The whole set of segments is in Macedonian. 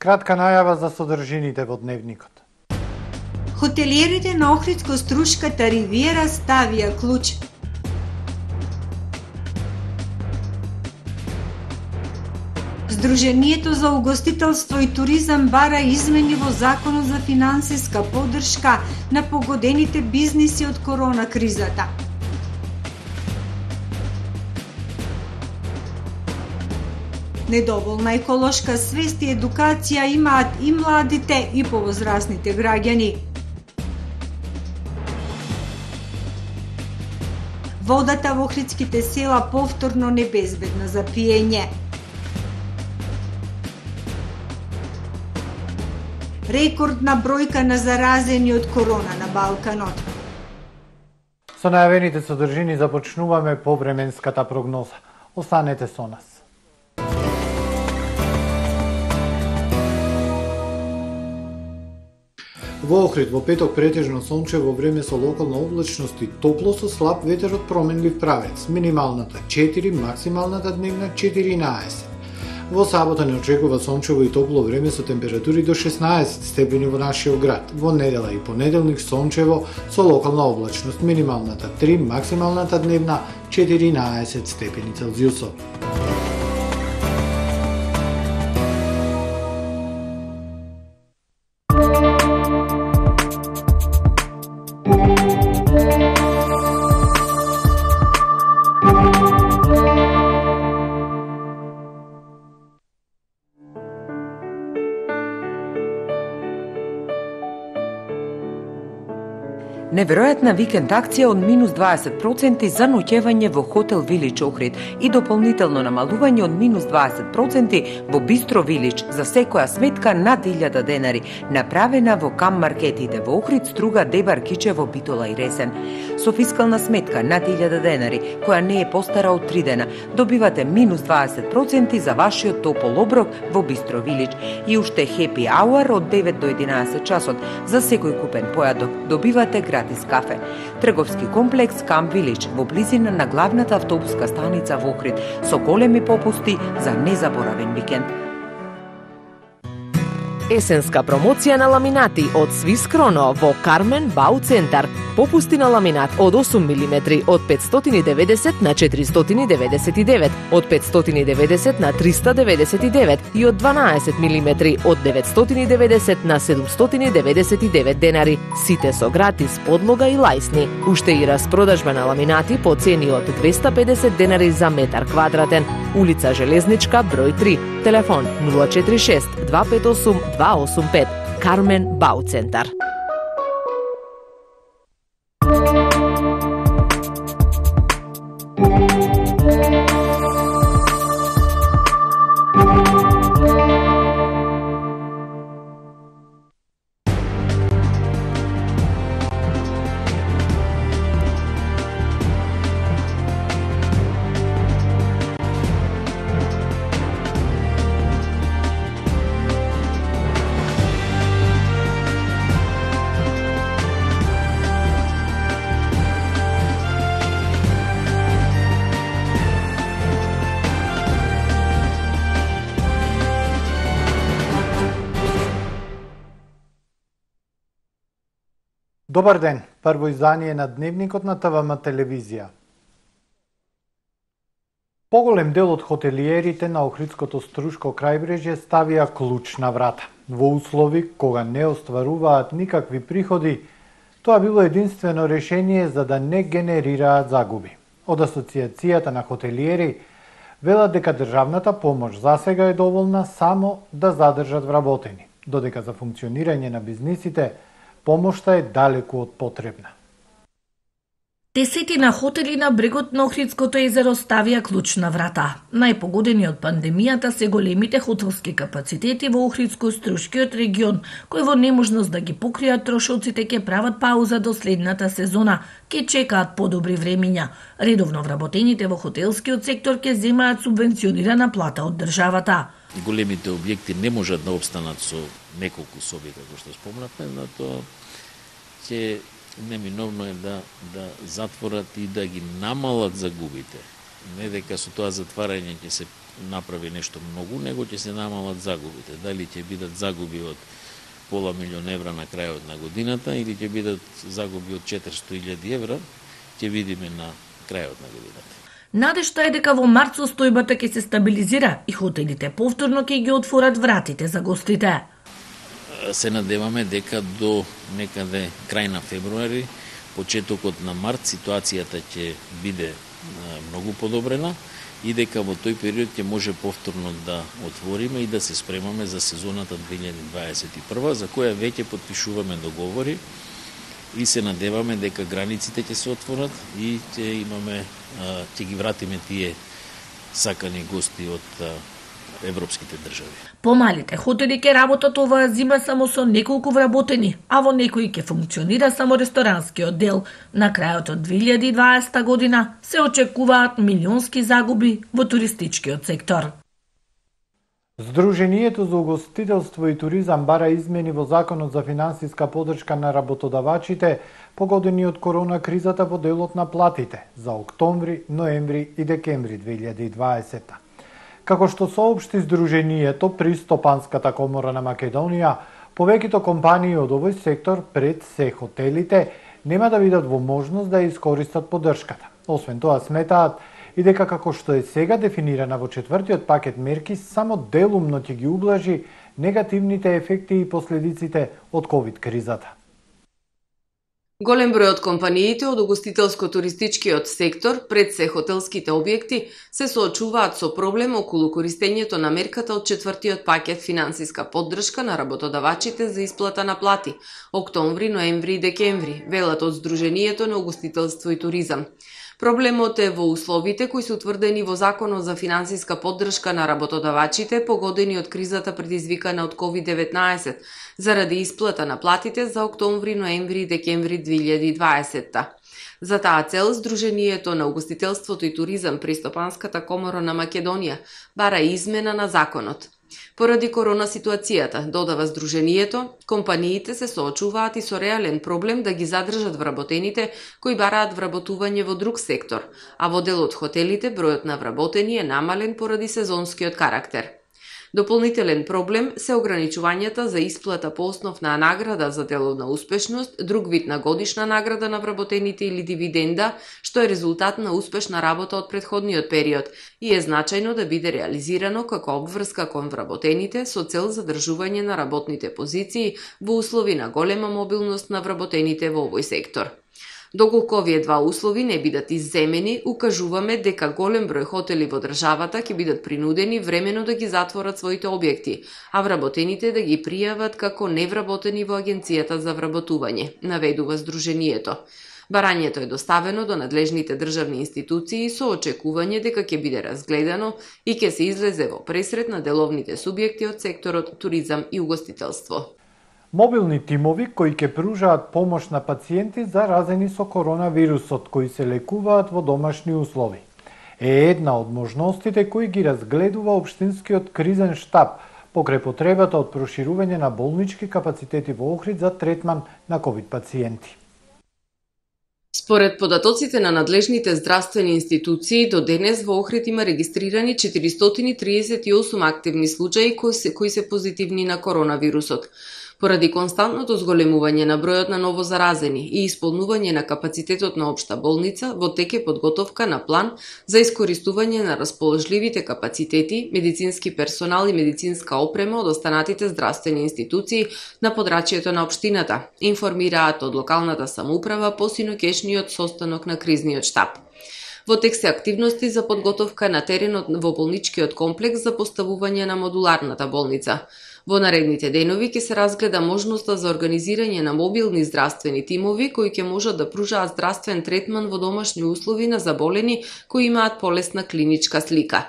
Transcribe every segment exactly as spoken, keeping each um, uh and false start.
Кратка најава за содржините во дневникот. Хотелиерите на Охридско-Струшката ривиера ставија клуч. Сдруженијето за угостителство и туризам бара измени во Законот за финансиска поддршка на погодените бизниси од корона кризата. Недоволна еколошка свест и едукација имаат и младите и повозрасните граѓани. Водата во охридските села повторно небезбедна за пиење. Рекордна бројка на заразени од корона на Балканот. Со најавените содржини започнуваме повременската прогноза. Останете со нас. Во Охрид во петок претежно сончево време со локална облачност и топло со слаб ветер од променлив правец. Минималната четири, максималната дневна четиринаесет. Во сабота не очекува сончево и топло време со температури до шеснаесет степени во нашиот град. Во недела и понеделник сончево со локална облачност. Минималната три, максималната дневна четиринаесет степени Целзиусов. Неверојатна викенд акција од минус дваесет проценти за ноќевање во хотел Вилич Охрид и дополнително намалување од минус дваесет проценти во Бистро Вилич за секоја сметка над илјада денари, направена во кам маркетите во Охрид, Струга, Дебар, Кичево, Битола и Ресен. Со фискална сметка над илјада денари, која не е постара од три дена, добивате минус дваесет проценти за вашиот топол оброк во Бистро Вилич и уште хепи ауар од девет до единаесет часот. За секој купен појадок добивате гратис кафе. Трговски комплекс Камп Вилич во близина на главната автобуска станица во Охрид со големи попусти за незаборавен викенд. Есенска промоција на ламинати од Свис Кроно во Кармен Бау Центар. Попусти на ламинат од осум милиметри од петстотини и деветдесет на четиристотини и деветдесет и девет, од петстотини и деветдесет на триста деветдесет и девет и од дванаесет милиметри од деветстотини и деветдесет на седумстотини и деветдесет и девет денари. Сите со гратис подлога и лајсни. Уште и распродажба на ламинати по цени од двеста и педесет денари за метар квадратен. Улица Железничка, број три. Телефон нула четири шест два пет осум два осум пет. Кармен Бау Центар. Добар ден, прво издание на Дневникот на ТВМ телевизија. Поголем дел од хотелиерите на Охридското Струшко крајбрежје ставија клуч на врата. Во услови кога не остваруваат никакви приходи, тоа било единствено решение за да не генерираат загуби. Од Асоциацијата на хотелиери велат дека државната помош засега е доволна само да задржат вработени, додека за функционирање на бизнисите помошта е далеку од потребна. Десетина хотели на брегот на Охридското езеро ставија клуч на врата. Најпогодени од пандемијата се големите хотелски капацитети во Охридско-Струшкиот регион, кои во неможност да ги покријат трошоците ќе прават пауза до следната сезона, ќе чекаат подобри времиња. Редовно вработените во хотелскиот сектор ќе земаат субвенционирана плата од државата. Големите објекти не можат да обстанат со неколку соби, како што спомнавме, но тоа ќе неминовно е да, да затворат и да ги намалат загубите. Не дека со тоа затварање ќе се направи нешто многу, него ќе се намалат загубите. Дали ќе бидат загуби од пола милион евра на крајот на годината или ќе бидат загуби од четиристотини илјади евра, ќе видиме на крајот на годината. Надежта е дека во март состојбата ќе се стабилизира и хотелите повторно ќе ги отворат вратите за гостите. Се надеваме дека до некаде крај на февруари, почетокот на март, ситуацијата ќе биде многу подобрена и дека во тој период ќе може повторно да отвориме и да се спремаме за сезоната две илјади дваесет и прва, за која веќе потпишуваме договори и се надеваме дека границите ќе се отворат и ќе имаме, ќе ги вратиме тие сакани гости од европските држави. Помалите хотели ќе работат оваа зима само со неколку вработени, а во некои ќе функционира само ресторанскиот дел. На крајот од две илјади и дваесета година се очекуваат милионски загуби во туристичкиот сектор. Сдруженијето за угостителство и туризам бара измени во Законот за финансиска поддршка на работодавачите погодени од корона кризата во делот на платите за октомври, ноември и декември две илјади и дваесета. Како што соопшти Сдруженијето при Стопанската комора на Македонија, повеќето компании од овој сектор, пред се хотелите, нема да видат во можност да ја искористат поддршката. Освен тоа сметаат и дека како што е сега дефинирана во четвртиот пакет мерки, само делумно ќе ги ублажи негативните ефекти и последиците од ковид кризата. Голем број од компаниите од угостителско-туристичкиот сектор, пред се хотелските објекти, се соочуваат со проблем околу користењето на мерката од четвртиот пакет финансиска поддршка на работодавачите за исплата на плати октомври, ноември и декември, велат од Сдруженијето на угостителство и туризам. Проблемот е во условите кои се утврдени во Законот за финансиска поддршка на работодавачите погодени од кризата предизвикана од ковид деветнаесет заради исплата на платите за октомври, ноември и декември две илјади и дваесета. За таа цел Сдруженијето на угостителството и туризам при Стопанската комора на Македонија бара измена на законот. Поради корона ситуацијата, додава Сдруженијето, компаниите се соочуваат и со реален проблем да ги задржат вработените кои бараат вработување во друг сектор, а во дел од хотелите бројот на вработени е намален поради сезонскиот карактер. Дополнителен проблем се ограничувањата за исплата по основ на награда за деловна успешност, друг вид на годишна награда на вработените или дивиденда, што е резултат на успешна работа од претходниот период и е значајно да биде реализирано како обврска кон вработените со цел задржување на работните позиции во услови на голема мобилност на вработените во овој сектор. Доколку овие два услови не бидат изземени, укажуваме дека голем број хотели во државата ќе бидат принудени времено да ги затворат своите објекти, а вработените да ги пријават како невработени во Агенцијата за вработување, наведува Сдруженијето. Барањето е доставено до надлежните државни институции со очекување дека ќе биде разгледано и ќе се излезе во пресрет на деловните субјекти од секторот туризам и угостителство. Мобилни тимови кои ќе пружаат помош на пациенти заразени со коронавирусот кои се лекуваат во домашни услови. Е една од можностите кои ги разгледува Општинскиот кризен штаб покрај потребата од проширување на болнички капацитети во Охрид за третман на ковид пациенти. Според податоците на надлежните здравствени институции, до денес во Охрид има регистрирани четиристотини триесет и осум активни случаи кои се, кои се позитивни на коронавирусот. Поради константното зголемување на бројот на новозаразени и исполнување на капацитетот на општа болница, во тек е подготовка на план за искористување на расположливите капацитети, медицински персонал и медицинска опрема од останатите здравствени институции на подрачјето на општината, информираат од локалната самоуправа по синоќешниот состанок на кризниот штаб. Во тек се активности за подготовка на теренот во болничкиот комплекс за поставување на модуларната болница. Во наредните денови ќе се разгледа можноста за организирање на мобилни здравствени тимови кои ќе можат да пружаат здравствен третман во домашни услови на заболени кои имаат полесна клиничка слика.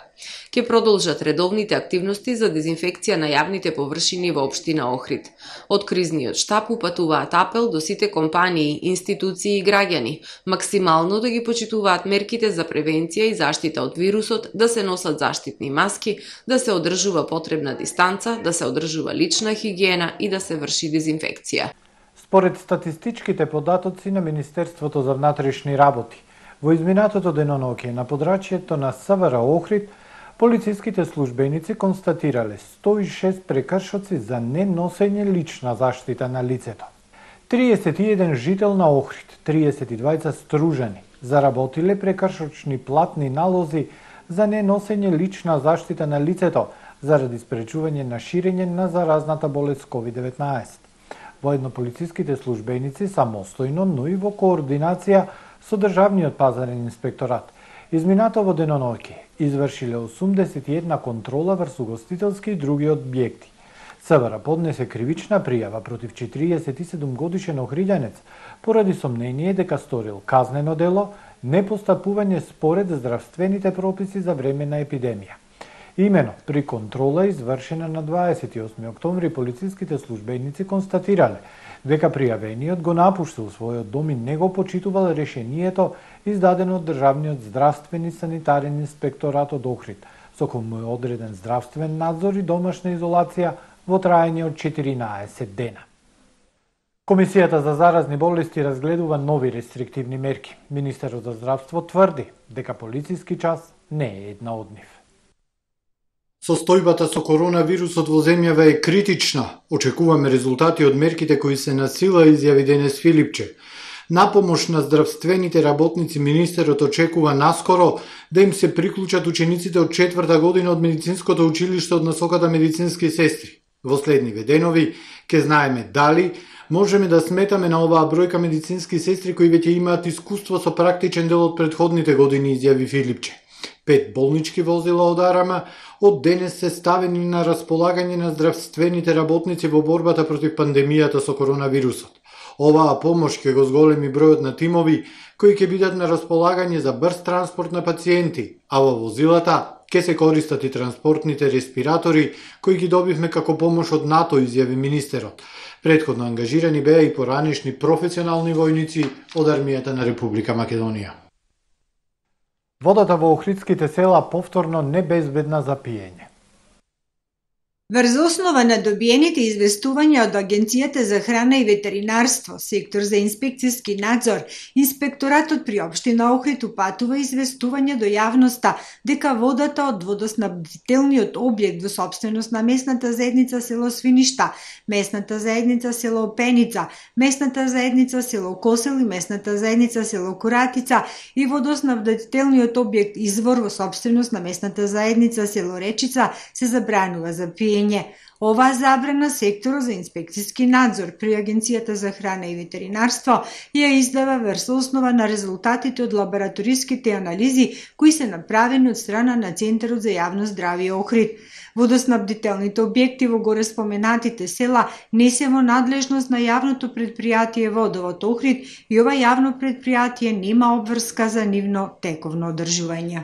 Ќе продолжат редовните активности за дезинфекција на јавните површини во општина Охрид. Од кризниот штаб упатуваат апел до сите компании, институции и граѓани максимално да ги почитуваат мерките за превенција и заштита од вирусот, да се носат заштитни маски, да се одржува потребна дистанца, да се одржува лична хигиена и да се врши дезинфекција. Според статистичките податоци на Министерството за внатрешни работи, во изминатото деноноќе на подрачјето на СВР Охрид, Полициските службеници констатирале сто и шест прекршоци за неносење лична заштита на лицето. триесет и еден жител на Охрид, триесет и двајца стружани, заработиле прекршочни платни налози за неносење лична заштита на лицето заради спречување на ширење на заразната болест ковид деветнаесет. Воедно полициските службеници самостојно, но и во координација со Државниот пазарен инспекторат, изминатово деноноќе извршиле осумдесет и една контрола врз угостителски и други објекти. СВР поднесе кривична пријава против четириесет и седум годишен охриѓанец поради сомнение дека сторил казнено дело непостапување според здравствените прописи за време на епидемија. Имено, при контрола извршена на дваесет и осми октомври, полициските службеници констатирале дека пријавениот го напуштил својот дом и не го почитувал решението издадено од Државниот здравствен и санитарен инспекторат од Охрид, со кој му е одреден здравствен надзор и домашна изолација во траење од четиринаесет дена. Комисијата за заразни болести разгледува нови рестриктивни мерки. Министерот за здравство тврди дека полициски час не е една од нив. Состојбата со коронавирусот во земјава е критична. Очекуваме резултати од мерките кои се на сила, изјави денес Филипче. На помош на здравствените работници министерот очекува наскоро да им се приклучат учениците од четврта година од медицинското училиште од насоката медицински сестри. Во следниве денови ќе знаеме дали можеме да сметаме на оваа бројка медицински сестри кои веќе имаат искуство со практичен дел од претходните години, изјави Филипче. Пет болнички возила од Арама од денес се ставени на располагање на здравствените работници во борбата против пандемијата со коронавирусот. Оваа помош ќе го зголеми бројот на тимови кои ќе бидат на располагање за брз транспорт на пациенти, а во возилата ќе се користат и транспортните респиратори кои ги добивме како помош од НАТО, изјави министерот. Претходно ангажирани беа и поранешни професионални војници од армијата на Република Македонија. Водата во охридските села повторно небезбедна за пиење. Врз основа на добиените известувања од Агенцијата за храна и ветеринарство, сектор за инспекцијски надзор, инспекторатот при општина Охрид упатува известување до јавноста дека водата од водоснабдителниот објект во сопственост на местната заедница село Свиништа, местната заедница село Пеница, местната заедница село Косел и местната заедница село Коратица и водоснабдителниот објект извор во сопственост на местната заедница село Речица се забранува за пиење. Оваа забрана секторот за инспекцијски надзор при Агенцијата за храна и ветеринарство ја издава врз основа на резултатите од лабораториските анализи кои се направени од страна на Центарот за јавно здравје Охрид. Водоснабдителните објекти во горе споменатите села не се во надлежност на јавното предпријатие Водовод Охрид и ова јавно предпријатие нема обврска за нивно тековно одржување.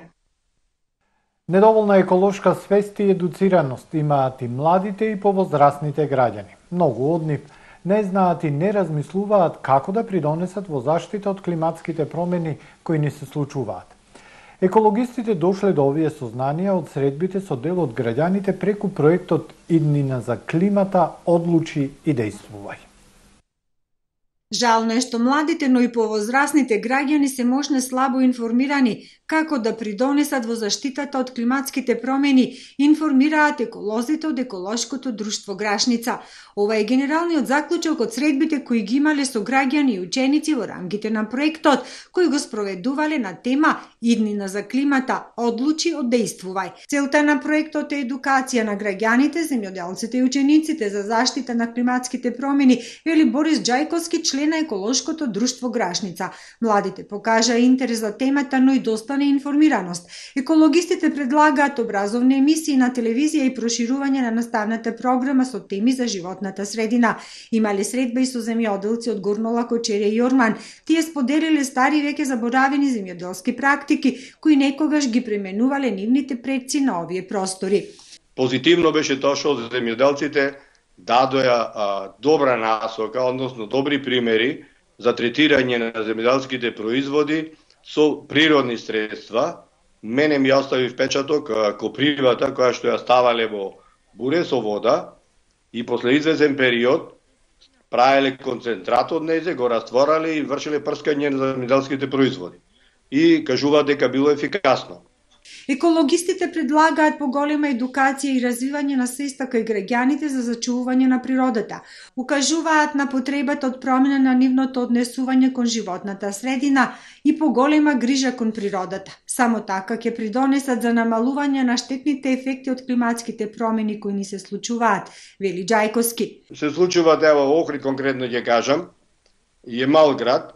Недоволна еколошка свест и едуцираност имаат и младите и повозрастните граѓани. Многу од нив не знаат и не размислуваат како да придонесат во заштита од климатските промени кои ни се случуваат. Екологистите дошле до овие сознанија од средбите со дел од граѓаните преку проектот Иднина за климата, одлучи и дејствувај. Жално е што младите, но и повозрастните граѓани се можне слабо информирани како да придонесат во заштитата од климатските промени, информираат еколозите од еколошкото друштво Грашница. Ова е генералниот заклучок од средбите кои ги имале со граѓани и ученици во рамките на проектот, кои го спроведувале на тема Иднина за климата, одлучи, одејствувај. Целта на проектот е едукација на граѓаните, земјоделците и учениците за заштита на климатските промени, вели Борис Џајковски, член на еколошкото друштво Грашница. Младите покажа интерес за темата, но и достане информираност. Екологистите предлагаат образовни емисии на телевизија и проширување на наставната програма со теми за животната средина. Имале средба и со земјоделци од Горнола, Кочере и Јорман. Тие споделиле стари веќе заборавени земјоделски практики, кои некогаш ги пременувале нивните предци на овие простори. Позитивно беше тоа што земјоделците дадоја а, добра насока, односно добри примери за третирање на земјоделските производи со природни средства. Мене ми остави впечаток а, копривата која што ја ставале во буре со вода и после известен период правеле концентрат од незе, го растворале и вршеле прскање на земјоделските производи. И кажуваат дека било ефикасно. Екологистите предлагаат поголема едукација и развивање на свеста кај граѓаните за зачувување на природата. Укажуваат на потребата од промена на нивното однесување кон животната средина и поголема грижа кон природата. Само така ќе придонесат за намалување на штетните ефекти од климатските промени кои ни се случуваат, вели Ѓајковски. Се случуваат, ево, Охрид конкретно ќе кажам, е мал град.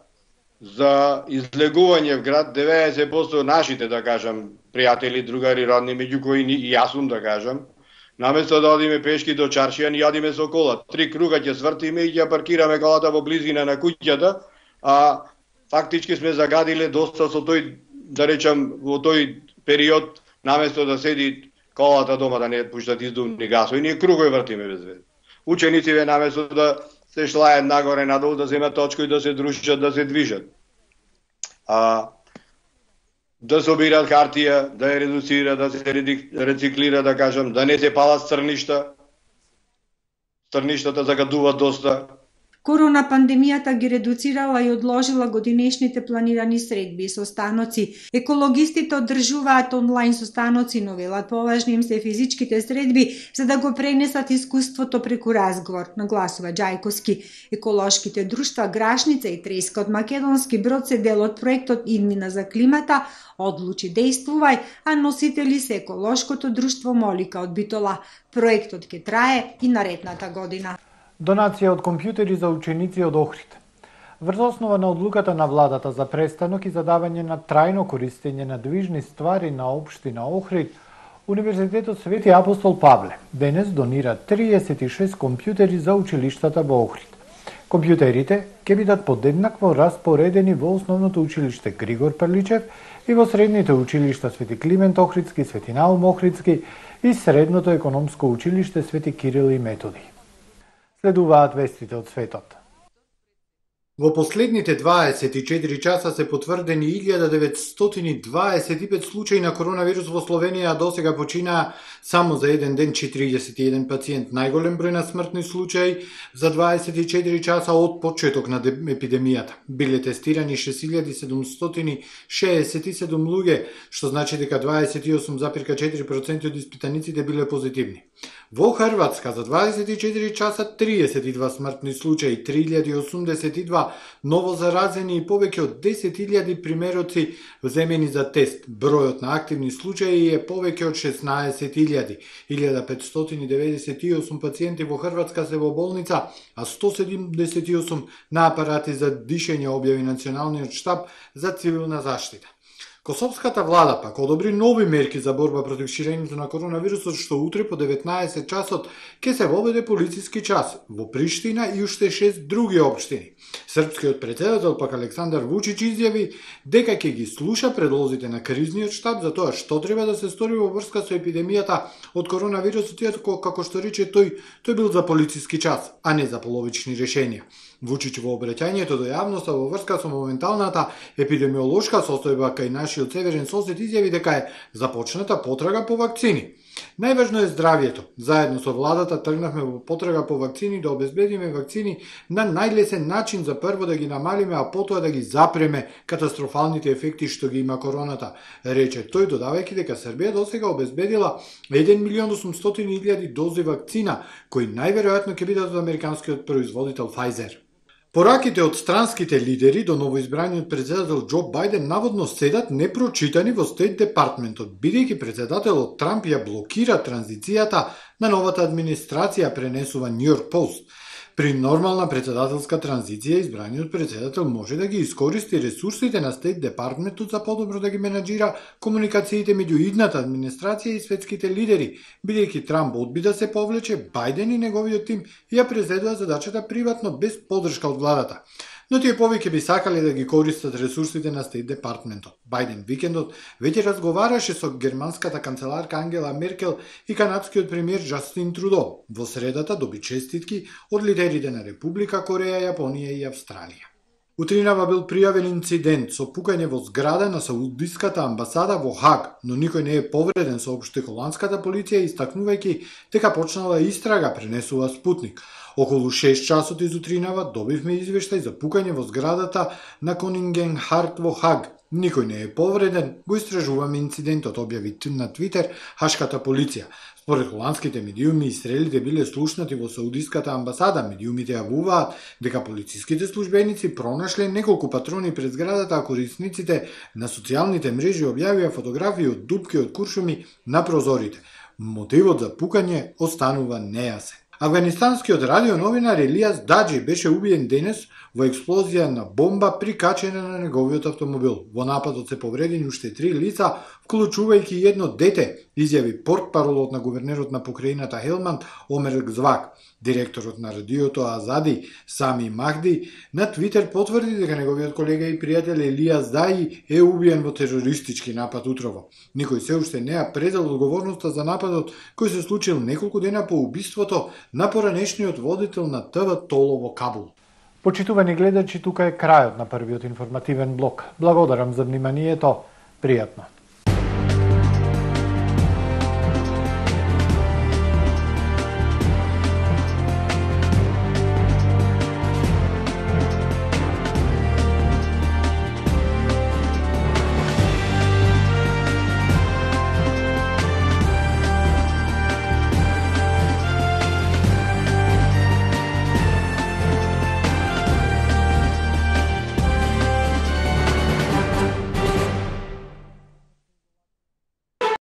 За излегување в град деветдесет проценти нашите, да кажам, пријатели, другари, родни, меѓу кои и јас сум, да кажам, наместо да одиме пешки до чаршија, ни јадиме со кола. Три круга ќе свртиме и ќе паркираме колата во близина на куќата, а фактички сме загадиле доста со тој, да речам, во тој период, наместо да седи колата дома да не пуштат издувни гасови, ние кругови вртиме без везе. Учениците наместо да се шлајат нагоре надолу, да земат точка и да се дружат, да се движат. А, да собираат хартија, да ја редуцира, да се рециклира, да кажам, да не се палат стрништа. Стрништата загадуваат доста. Корона пандемијата ги редуцирала и одложила годинешните планирани средби и состаноци. Екологистите одржуваат онлайн состаноци, но велат поважни им се физичките средби за да го пренесат искуството преку разговор, нагласува Ѓајковски. Еколошките друштва Грашница и Треска од Македонски Брод се дел од проектот Иднина за климата, одлучи действувај, а носители се еколошкото друштво Молика од Битола. Проектот ќе трае и наредната година. Донација од компјутери за ученици од Охрид. Врз основа на одлуката на владата за престанок и задавање на трајно користење на движни ствари на општина Охрид, Универзитетот Свети Апостол Павле денес донира триесет и шест компјутери за училиштата во Охрид. Компјутерите ќе бидат подеднакво распоредени во основното училиште Григор Перличев и во средните училишта Свети Климент Охридски, Свети Наум Охридски и средното економско училиште Свети Кирил и Методи. Следуваат вестите од светот. Во последните дваесет и четири часа се потврдени илјада деветстотини дваесет и пет случаи на коронавирус во Словенија, а досега починаа само за еден ден четириесет и еден пациент. Најголем број на смртни случаи за дваесет и четири часа од почеток на епидемијата. Биле тестирани шест илјади седумстотини шеесет и седум луѓе, што значи дека дваесет и осум зарез четири проценти од испитаниците биле позитивни. Во Хрватска за дваесет и четири часа триесет и два смртни случаи, три илјади осумдесет и два ново заразени и повеќе од десет илјади примероци земени за тест. Бројот на активни случаи е повеќе од шеснаесет илјади. илјада петстотини деветдесет и осум пациенти во Хрватска се во болница, а сто седумдесет и осум на апарати за дишење, објави Националниот штаб за цивилна заштита. Косовската влада пак одобри нови мерки за борба против ширењето на коронавирусот, што утре по деветнаесет часот ќе се воведе полициски час во Приштина и уште шест други општини. Српскиот претседател пак Александар Вучич изјави дека ќе ги слуша предлозите на кризниот штаб за тоа што треба да се стори во врска со епидемијата од коронавирусот, иако како што рече тој, тој бил за полициски час, а не за половични решенија. Вучич во обраќањето до јавноста во врска со моменталната епидемиолошка состојба кај нашиот северен сосед изјави дека е започната потрага по вакцини. Најважно е здравјето. Заедно со владата тргнавме во потрага по вакцини да обезбедиме вакцини на најлесен начин за прво да ги намалиме, а потоа да ги запреме катастрофалните ефекти што ги има короната, рече тој, додавајќи дека Србија досега обезбедила еден милион осумстотини илјади дози вакцина, кои најверојатно ќе бидат од американскиот производител Pfizer. Пораките од странските лидери до новоизбраниот претседател Џо Бајден наводно седат непрочитани во Стейт Департментот, бидејќи претседателот Трамп ја блокира транзицијата на новата администрација, пренесува Нью Йорк Пост. При нормална претседателска транзиција, избраниот претседател може да ги искористи ресурсите на Стейт Департментот за подобро да ги менаџира комуникациите меѓу идната администрација и светските лидери, бидејќи Трамп одби да се повлече, Бајден и неговиот тим ја презедува задачата приватно без поддршка од владата. Но тие повеќе би сакале да ги користат ресурсите на Стейт Департментот. Бајден викендот веќе разговараше со германската канцеларка Ангела Меркел и канадскиот премиер Џастин Трудо. Во средата доби честитки од лидерите на Република Кореја, Јапонија и Австралија. Утринава бил пријавен инцидент со пукање во зграда на Саудиската амбасада во Хаг, но никој не е повреден, соопшти холандската полиција, истакнувајќи дека почнала истрага, пренесува Спутник. Околу шест часот изутринава добивме извештај за пукање во зградата на Конингенхарт во Хаг. Никој не е повреден, го истражуваме инцидентот, објави на Твитер хашката полиција. Според холандските медиуми, стрелите биле слушнати во Саудиската амбасада. Медиумите јавуваат дека полициските службеници пронашле неколку патрони пред зградата, а корисниците на социјалните мрежи објавија фотографии од дупки од куршуми на прозорите. Мотивот за пукање останува нејасен. Афганистанскиот радионовинар Елијас Даџи беше убиен денес во експлозија на бомба прикачена на неговиот автомобил. Во нападот се повредени уште три лица, вклучувајќи едно дете, изјави портпаролот на гувернерот на покрајината Хелманд Омер Гзвак. Директорот на радиото Азади Сами Махди на Твитер потврди дека неговиот колега и пријател Елијас Даји е убиен во терористички напад утрово. Никој се уште не ја презел одговорноста за нападот кој се случил неколку дена по убиството на поранешниот водител на ТВ Толо во Кабул. Почитувани гледачи, тука е крајот на првиот информативен блок. Благодарам за вниманието. Пријатно.